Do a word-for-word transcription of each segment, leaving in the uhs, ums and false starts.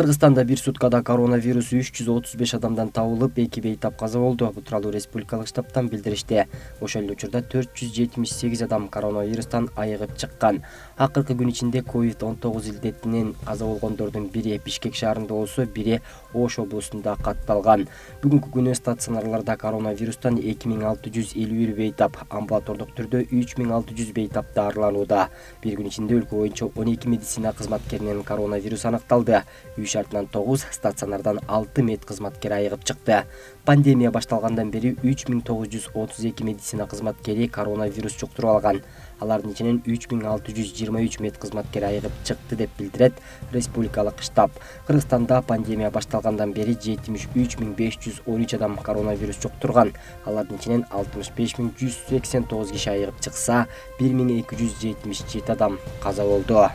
Кыргызстанда бир суткада коронавирус үч жүз отуз беш адамдан табылып, эки бейтап каза болду. Бул тууралуу республикалык штабтан билдиришти. Ошол эле учурда төрт жүз жетимиш сегиз адам коронавирустан айыгып чыккан. Акыркы күн ичинде ковид он тогуз илдетинен каза болгондордун бири Бишкек шаарында болсо, бири Ош облусунда катталган. Бүгүнкү күнү стационарларда коронавирустан эки миң алты жүз элүү бир бейтап, амбулатордук түрдө үч миң алты жүз бейтап дарыланууда. Бир күн ичинде өлкө боюнча он эки медицина кызматкеринен коронавирус аныкталды. Үй шартынан тогуз, стационардан алты мед кызматкери айыгып чыкты. Пандемия башталгандан бери үч миң тогуз жүз отуз эки медицина кызматкери коронавирус жуктуруп алган. Алардын ичинен үч миң алты жүз жыйырма үч мед кызматкери айыгып чыкты деп билдирет республикалык штаб. Кыргызстанда пандемия башталгандан бери жетимиш үч миң беш жүз он үч адам коронавирус жуктурган. Алардын ичинен алтымыш беш миң жүз сексен тогуз киши айыгып чыкса, бир миң эки жүз жетимиш жети адам каза болду.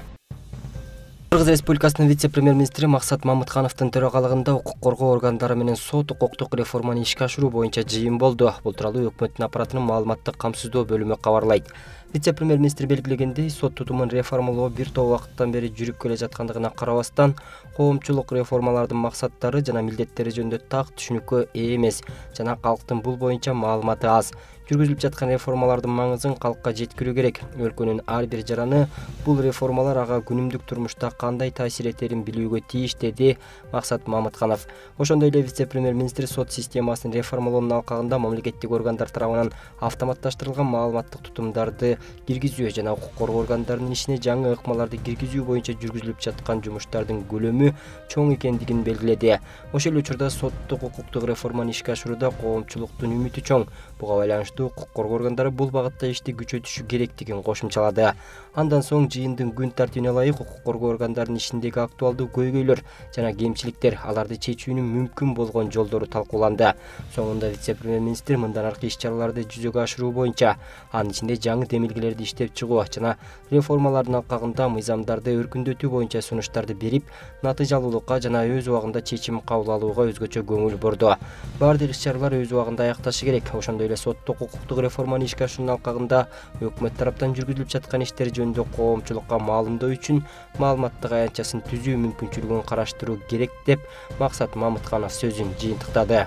Кыргыз Республикасынын вице-премьер-министри Максат Мамыткановдун төрагалыгында укук коргоо органдары менен сот укуктук реформаны ишке ашыруу боюнча жыйын болду. Бул тууралуу өкмөттүн аппаратынын маалыматтык камсыздоо бөлүмү кабарлайт. Вице-премьер-министр белгилегендей, сот тутумун реформалоо бир топ убакыттан бери жүрүп келе жаткандыгына карабастан, коомчулук реформалардын максаттары жана милдеттери жөнүндө так түшүнүккө ээ эмес жана калктын бул боюнча маалыматы аз. Жүргүзүлүп жаткан реформалардын маңызын калкка жеткирүү керек. Өлкөнүн ар бир жараны бул реформалар ага күнүмдүк турмушта кандай таасир этерин билүүгө тийиш, деди Максат Мамытканов. Ошондой эле вице-премьер-министр сот системасын реформалоонун алкагында мамлекеттик органдар тарабынан автоматташтырылган маалыматтык тутумдарды киргизүү жана укук коргоо органдарынын ишине жаңы ыкмаларды киргизүү боюнча жүргүзүлүп жаткан жумуштардын көлөмү чоң экендигин белгиледи. Ошол эле учурда соттук укуктук реформаны ишке ашырууда коомчулуктун үмүтү чоң. Буга байланыштуу укук коргоо органдары бул багытта ишти күчөтүшү керектигин кошумчалады. Андан соң жыйындын күн тартибине ылайык укук коргоо органдарынын ишиндеги актуалдуу көйгөйлөр жана кемчиликтер, аларды чечүүнүн мүмкүн болгон жолдору талкууланды. Соңунда вице-премьер-министр мындан аркы иш-чараларды жүзөгө ашыруу боюнча, анын ичинде жаңы демилгелерди иштеп чыгуу жана реформалардын алкагында мыйзамдарды өркүндөтүү боюнча сунуштарды берип, натыйжалуулукка жана өз убагында чечим кабыл алууга өзгөчө көңүл бурду. Бардык иш-чаралар өз убагында аякташы керек. Ошондой эле соттук укуктук реформаны ишке ашыруунун алкагында өкмөт тараптан жүргүзүлүп жаткан иштер жөнүндө коомчулукка маалымдоо үчүн маалыматтык аянтчасын түзүү мүмкүнчүлүгүн караштыруу керек деп Максат Мамытканов сөзүн жыйынтыктады.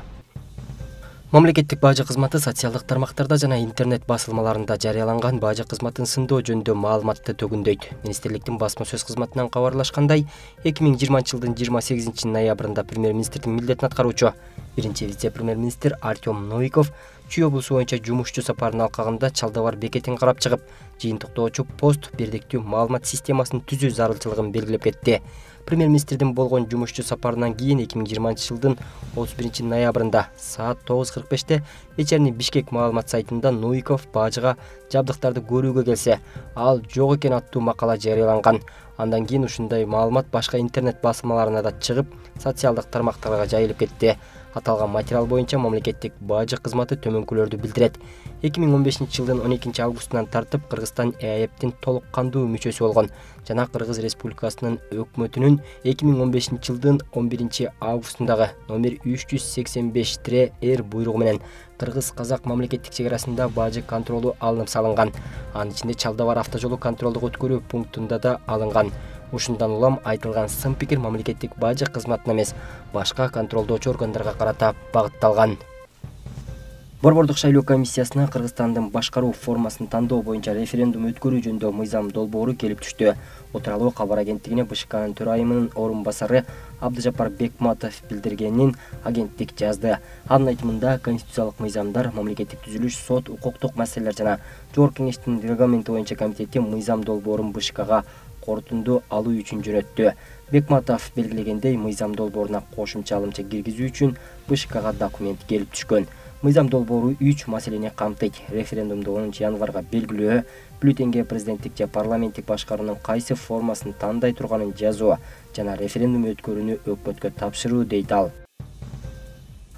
Мамлекеттик бажы кызматы социалдык тармактарда жана интернет басылмаларында жарыяланган бажы кызматын сындоо жөнүндө маалыматты төгүндөйт. Министрликтин басма сөз кызматынан кабарлашкандай, эки миң жыйырманчы жылдын жыйырма сегизинчи ноябрында премьер-министрдин милдетин аткаруучу биринчи вице-премьер-министр Артем Новиков Чүй облусу боюнча жумушчу сапарынын алкагында Чалдабар бекетин карап чыгып, жыйынтыктоочу пост бирдиктүү маалымат системасын түзүү зарылчылыгын белгилеп кетти. Премьер-министрдин болгон жумушчу сапарынан кийин эки миң жыйырманчы жылдын отуз биринчи ноябрында саат тогуз кырк беште вечерний Бишкек маалымат сайтында Новиков бажыга жабдыктарды көрүүгө келсе, ал жок экен аттуу макала жарыяланган. Андан кийин ушундай маалымат башка интернет басылмаларына да чыгып, социалдык тармактарга жайылып кетти. Аталган материал боюнча мамлекеттик бажы кызматы төмөнкүлөрдү билдирет. эки миң он бешинчи жылдын он экинчи августунан тартып Кыргызстан Э А Э П'тин толук кандуу мүчөсү болгон жана Кыргыз Республикасынын өкмөтүнүн эки миң он бешинчи жылдын он биринчи августундагы номер үч жүз сексен беш Р буйругу менен Кыргыз-Казак мамлекеттик чек арасында бажы контролу алынып салынган. Анын ичинде Чалдабар автожолу контролдук өткөрүү пунктунда да алынган. Ушундан улам айтылган сын пикир мамлекеттик бажы кызматына эмес, башка контролдоочу органдарга карата багытталган. Борбордук шайлоо комиссиясына Кыргызстандын башкаруу формасын тандоо боюнча референдум өткөрүү жөнүндө мыйзам долбоору келип түштү. Бул тууралуу кабар агенттигине Бэ Ш Кнын төрайымынын орун басары Абдыжапар Бекматов билдиргенин агенттик жазды. Анын айтымында, конституциялык мыйзамдар, мамлекеттик түзүлүш, сот, укуктук маселелер жана Жогорку Кеңештин регламенти боюнча комитети мыйзам долбоорун Бэ Ш Кга корутунду алуу үчүн жөнөттү. Бекматов белгилегендей, мыйзам долбооруна кошумча алымча киргизүү үчүн Бэ Ш Кга документ келип түшкөн. Мыйзам долбоору үч маселени камтыйт. Референдумду онунчу январга белгилөө, бюллетенге президенттик же парламенттик башкаруунун кайсы формасын тандай турганын жазуу жана референдум өткөрүүнү өкмөткө тапшыруу, дейт ал.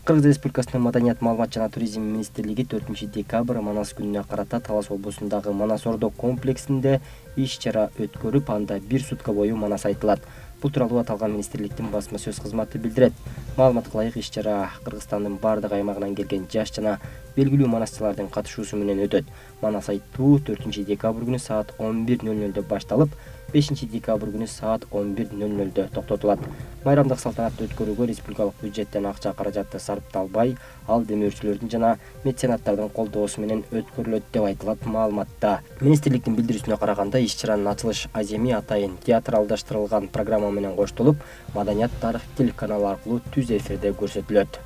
Кыргыз Республикасынын Маданият, маалымат жана туризм министрлиги төртүнчү декабрь Манас күнүнө карата Талас облусундагы Манас Ордо комплексинде иш-чара өткөрүп, анда бир сутка бою Манас айтылат. Бул тууралуу аталган министрликтин басма сөз кызматы билдирет. Маалыматка ылайык иш-чара Кыргызстандын бардык аймагынан келген жаш жана белгилүү манасчылардын катышуусу менен өтөт. Манас айтуу төртүнчү декабрь күнү саат он бир ноль нольдо башталып, бешинчи декабрь күнү саат он бир ноль нольдо токтотулат. Майрамдык салтанатты өткөрүүгө республикалык бюджеттен акча каражаты сарпталбай, ал демөөрчүлөрдүн жана меценаттардын колдоосу менен өткөрүлөт деп айтылат маалыматта. Министрликтин билдирүүсүнө караганда, иш-чаранын ачылыш аземи атайын театралдаштырылган программа менен коштолуп, Маданият тарых телеканалы аркылуу түз эфирде көрсөтүлөт.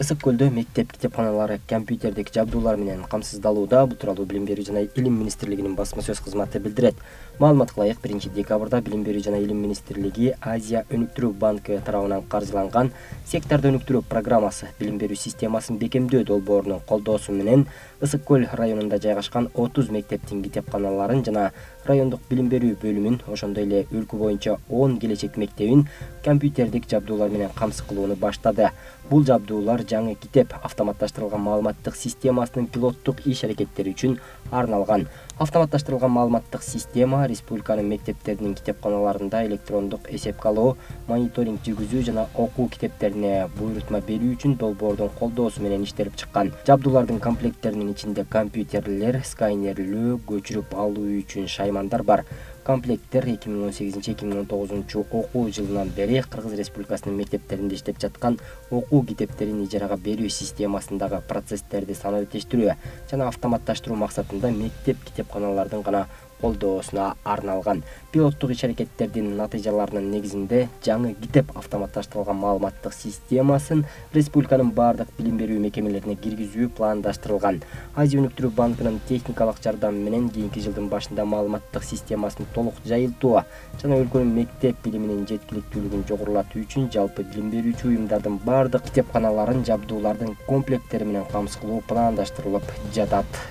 Ысык көлдө мектеп китепканалары компьютердик жабдуулар менен камсыздалууда. Бул тууралуу Билим берүү жана Илим министрлигинин басма сөз кызматы билдирет. Маалыматка ылайык, биринчи декабрда Билим берүү жана Илим министрлиги Азия өнүктүрүү банкы тарабынан каржыланган секторду өнүктүрүү программасы билим берүү системасын бекемдөө долбоорунун колдоосу менен Ысык көл районунда жайгашкан отуз мектептин китепканаларын жана райондук билим берүү бөлүмүн, ошондой эле өлкө боюнча он келечек мектебин компьютердик жабдуулар менен камсыз кылууну баштады. Бул жабдуулар жаңы китеп автоматташтырылган маалыматтык системасынын пилоттук иш-аракеттери үчүн арналган. Автоматташтырылган маалыматтык система республиканын мектептеринин китепканаларында электрондук эсепке алуу, мониторинг жүргүзүү жана окуу китептерине буйрутма берүү үчүн долбоордун колдоосу менен иштелип чыккан. Жабдуулардын комплекттеринин ичинде компьютерлер, сканерлөө, көчүрүп алуу үчүн шаймандар бар. Комплекттер эки миң он сегизинчи эки миң он тогузунчу окуу жылынан бери Кыргыз Республикасынын мектептеринде иштеп жаткан окуу китептерин ижарага берүү системасындагы процесстерди санариптештирүү жана автоматташтыруу максатында мектеп китепканалардын гана колдоосуна арналган. Пилоттук иш-аракеттердин натыйжаларынын негизинде жаңы китеп автоматташтырылган маалыматтык системасын республиканын бардык билим берүү мекемелерине киргизүү пландаштырылган. Азия өнүктүрүү банкынын техникалык жардамы менен кийинки жылдын башында маалыматтык системасын толук жайылтуу жана өлкөнүн мектеп билиминин жеткиликтүүлүгүн жогорулатуу үчүн жалпы билим берүүчү уюмдардын бардык китепканаларын жабдуулардын комплекттери менен камсыз кылуу пландаштырылып жатат.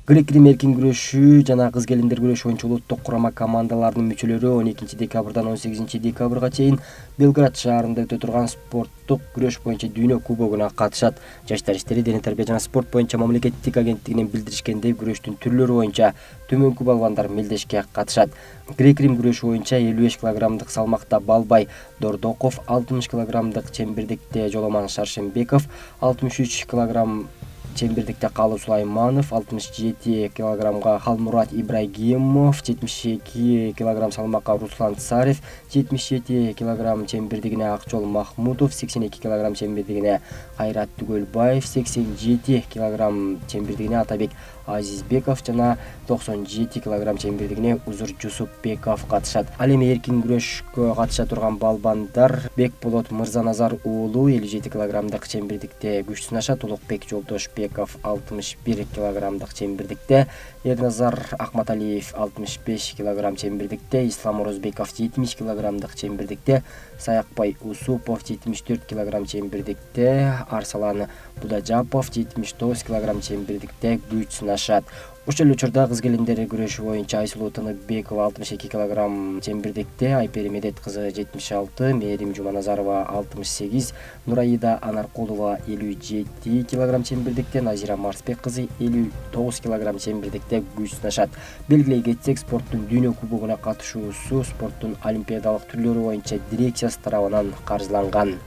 Грек-Рим эркин күрөшүү жана кыз-келиндер күрөшү боюнча улуттук курама командаларынын мүчөлөрү он экинчи декабрдан он сегизинчи декабрга чейин Белград шаарында өтө турган спорттук күрөш боюнча дүйнө кубогуна катышат. Жаштар иштери, дене тарбия жана спорт боюнча мамлекеттик агенттигинин билдиришкендей, күрөштүн түрлөрү боюнча төмөнкү балбандар мелдешке катышат. Грек-Рим күрөшү боюнча элүү беш килограммдык салмакта Балбай Дордоков, алтымыш килограммдык чембирдикте Жоломан Шаршембеков, алтымыш үч килограмм чембирдикте Калуу Сулайманов, алтымыш жети килограммга Халмурат Ибрагимов, жетимиш эки килограмм салмакка Руслан Царев, жетимиш жети килограмм чембирдигине Акчол Махмудов, сексен эки килограмм чембирдигине Кайрат Түгөлбаев, сексен жети килограмм чембирдигине Атабек Азизбеков жана токсон жети килограмм чембирдигине Узур Жусупбеков катышат. Ал эми эркин күрөшкө катыша турган балбандар Бекболот Мырзаназар уулу элүү жети килограммдык чембирдикте күч сынашат. Улукбек Жолдошбеков алтымыш бир килограммдык чембирдикте, Эрназар Акматалиев алтымыш беш килограмм чембирдикте, Ислам Орозбеков жетимиш килограммдык чембирдикте, Саякбай Усупов жетимиш төрт килограмм чембирдикте, Арсалан Будажапов жетимиш тогуз килограмм чембирдикте күч сынашат. Ошол эле учурда кыз-келиндер күрөшү боюнча Айсулуу Тыныбекова алтымыш эки килограмм чембирдикте, Айпери Медет кызы жетимиш алты, Мээрим Жуманазарова алтымыш сегиз, Нураида Анаркулова элүү жети килограмм чембирдикте, Назира Марсбек кызы элүү тогуз килограмм чембирдикте күч сынашат. Белгилей кетсек, спорттун дүйнө кубогуна катышуусу спорттун олимпиадалык түрлөрү боюнча дирекциясы тарабынан каржыланган.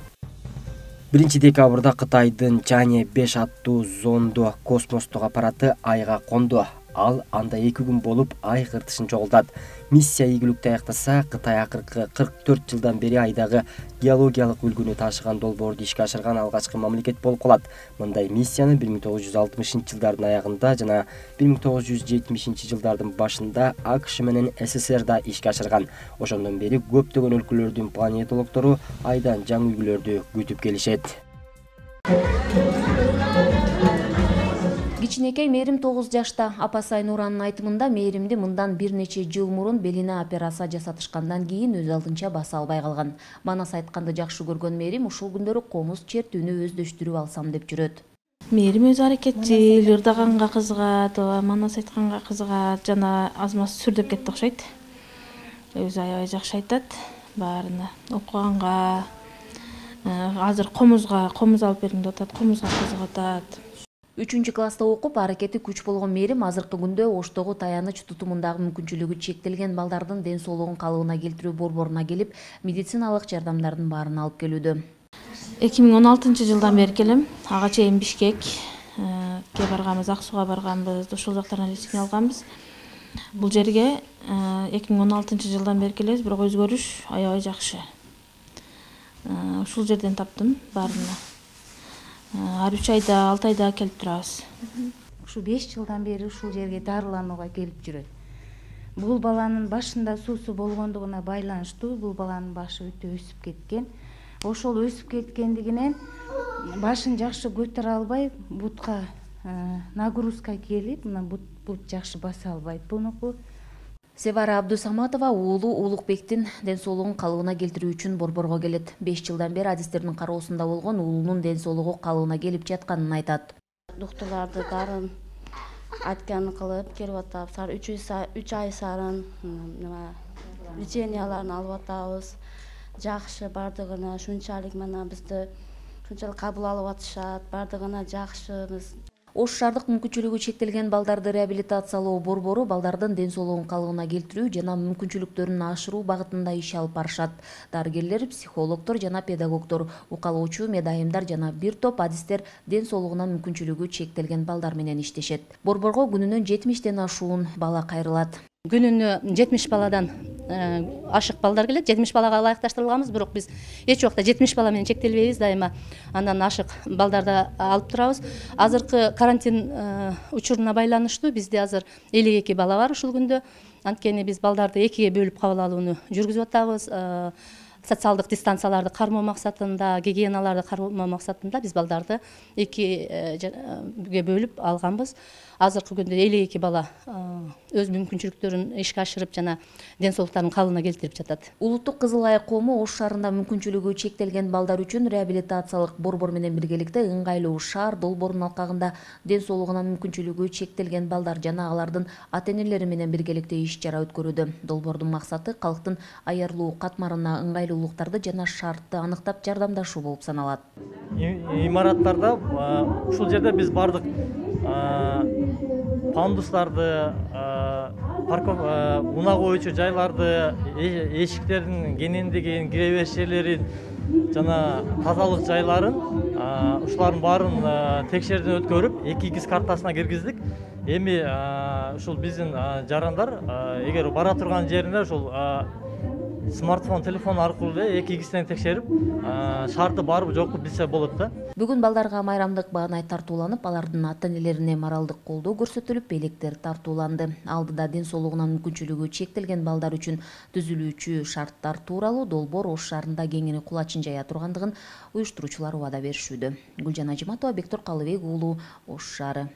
биринчи декабрда Кытайдын Чане беш аттуу зонду космостук аппараты Айга конду. Ал анда эки күн болуп Ай кыртышын чогултат. Миссия ийгиликтүү аяктаса, Кытай акыркы кырк төрт жылдан бери Айдагы геологиялык үлгүнү ташыган долбоорду ишке ашырган алгачкы мамлекет болуп калат. Мындай миссияны бир миң тогуз жүз алтымышынчы жылдардын аягында жана бир миң тогуз жүз жетимишинчи жылдардын башында АКШ менен СССР да ишке ашырган. Ошондон бери көптөгөн өлкөлөрдүн планетологдору Айдан жаңы үлгүлөрдү күтүп келишет. Кичинекей Мээрим тогуз жашта. Апасы Айнуранын айтымында Мээримди мындан бир нече жыл мурун белине операция жасатышкандан кийин өз алдынча баса албай калган. Манас айтканды жакшы көргөн Мээрим ушул күндөрү комуз чертүүнү өздөштүрүп алсам деп жүрөт. Мээрим өз аракетчил, ырдаганга кызыгат, манас айтканга кызыгат, жана аз маз сүрдөп кетти окшойт. Өзү аябай жакшы айтат баарына. Окуганга, азыр комузга, комуз алып бергим деп атат, комузга кызыгып атат. үчүнчү класста окуп, аракети күч болгон Мээрим азыркы күндө Оштогу таяныч тутумундагы мүмкүнчүлүгү чектелген балдардын ден соолугун калыбына келтирүү борборуна келип, медициналык жардамдардын баарын алып келүүдө. эки миң он алтынчы жылдан бери келем. Ага чейин Бишкекке барганбыз, Ак Сууга барганбыз, ошол жактардан лечение алганбыз. Бул жерге эки миң он алтынчы жылдан бери келебиз, бирок өзгөрүш аябай жакшы. Ушул жерден таптым баарына. Ар үч айда, алты айда келип турабыз. Ушу беш жылдан бери ушул жерге дарыланууга келип жүрөт. Бул баланын башында суусу болгондугуна байланыштуу, бул баланын башы өтө өсүп кеткен. Ошол өсүп кеткендигинен башын жакшы көтөрө албай, бутка нагрузка келип, мына бут бут жакшы баса албайт бунуку. Севара Абдусаматова уулу Улукбектин ден соолугун калыбына келтирүү үчүн Борборго келет. беш жылдан бери адистердин кароосунда болгон уулунун ден соолугу калыбына келип жатканын айтат. Доктурларды дарын айтканын кылып келип атабыз. үч ай сарын леченияларын алып атабыз. Жакшы бардыгына шунчалык мына бизди шунчалык кабыл алып атышат, бардыгына жакшыбыз. Ош шаардык мүмкүнчүлүгү чектелген балдарды реабилитациялоо борбору балдардын ден соолугун калыбына келтирүү жана мүмкүнчүлүктөрүн ашыруу багытында иш алып барышат. Дарыгерлер, психологдор жана педагогдор, укалоочу медайымдар жана бир топ адистер ден соолугуна мүмкүнчүлүгү чектелген балдар менен иштешет. Борборго күнүнө жетимиштен ашуун бала кайрылат. Күнүнө жетимиш баладан ашык балдар келет. жетимиш балага ылайыкташтырылганбыз, бирок биз эч убакта жетимиш бала менен чектелбейбиз, дайыма андан ашык балдарды алып турабыз. Азыркы карантин учуруна байланыштуу бизде азыр элүү эки бала бар ушул күндө. Анткени биз балдарды экиге бөлүп кабыл алууну жүргүзүп атабыз. Социалдык дистанцияларды кармоо максатында, гигиеналарды кармоо максатында биз балдарды экиге бөлүп алганбыз. Азыркы күндө элүү эки бала өз мүмкүнчүлүктөрүн ишке ашырып жана ден соолуктарын калыбына келтирип жатат. Улуттук Кызыл Ай коому Ош шаарында мүмкүнчүлүгү чектелген балдар үчүн реабилитациялык борбор менен биргеликте ыңгайлуу шаар долбоорунун алкагында ден соолугуна мүмкүнчүлүгү чектелген балдар жана алардын ата-энелери менен биргеликте иш чара өткөрүүдө. Долбоордун максаты калктын аярлуу катмарына ыңгайлуулуктарды жана шартты аныктап жардамдашуу болуп саналат. Имараттарда ушул жерде биз бардык пандустарды, унаа коюучу жайларды, эшиктердин кенендигин, кире бериш жерлерин жана тазалык жайларын ушулардын баарын текшерүүдөн өткөрүп, эки гис картасына киргиздик. Эми ушул биздин жарандар эгер бара турган жерине ушул смартфон, телефон аркылуу эки гистен текшерип, шарты барбы жокпу билсе болот да. Бүгүн балдарга майрамдык баанай тартууланып, алардын ата-энелерине моралдык колдоо көрсөтүлүп, электер тартууланды. Алдыда ден соолугуна мүмкүнчүлүгү чектелген балдар үчүн түзүлүүчү шарттар тууралуу долбоор Ош шаарында кеңири кулачын жая тургандыгын уюштуруучулар убада беришүүдө. Гүлжан Ажиматова, Бектур Калыбек уулу, Ош шаары.